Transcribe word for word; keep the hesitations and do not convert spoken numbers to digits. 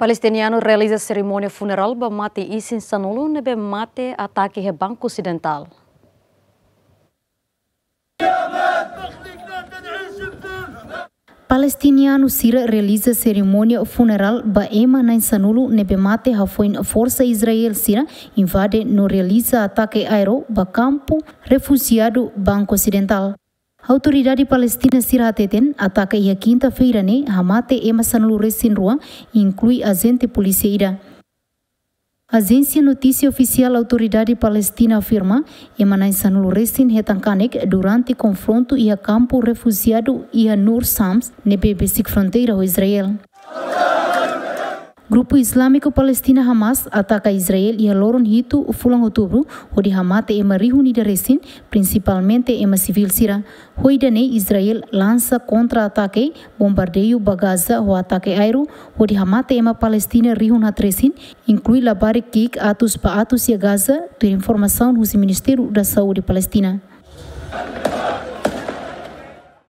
Palestinianu realiza serimónia funerál ba mate isin sanulu ne'ebé mate atake iha Banku Osidentál. Palestinianu sira realiza serimónia funerál ba ema na'in sanulu ne'ebé mate hafoin forsa Israel sira invade no realiza atake aéreu ba kampu refujiadu Banku Osidentál. Autoridade Palestina sira hateten atake iha kinta-feira ne'e hamate ema sanulu resin rua, inklui ajente polísia ida. Ajénsia notísia ofisiál Autoridade Palestina afirma ema na'in sanulu resin hetan kanek durante konfrontu iha kampu refujiadu iha Nur Shams ne'ebé besik fronteira ho Israel. Grupu Islámiku Palestina Hamas ataka Israel iha loron hitu fulan Outubru, hodi hamate ema rihun ida resin, prinsipalmente ema sivíl sira. Ho ida-ne'e Israel lansa kontra-atake, bombardeiu ba Gaza ho atake aéreu, hodi hamate ema Palestina rihun haat resin, inklui labarik ki'ik atus ba atus iha Gaza, tuir informasaun husi Ministériu da Saúde Palestina.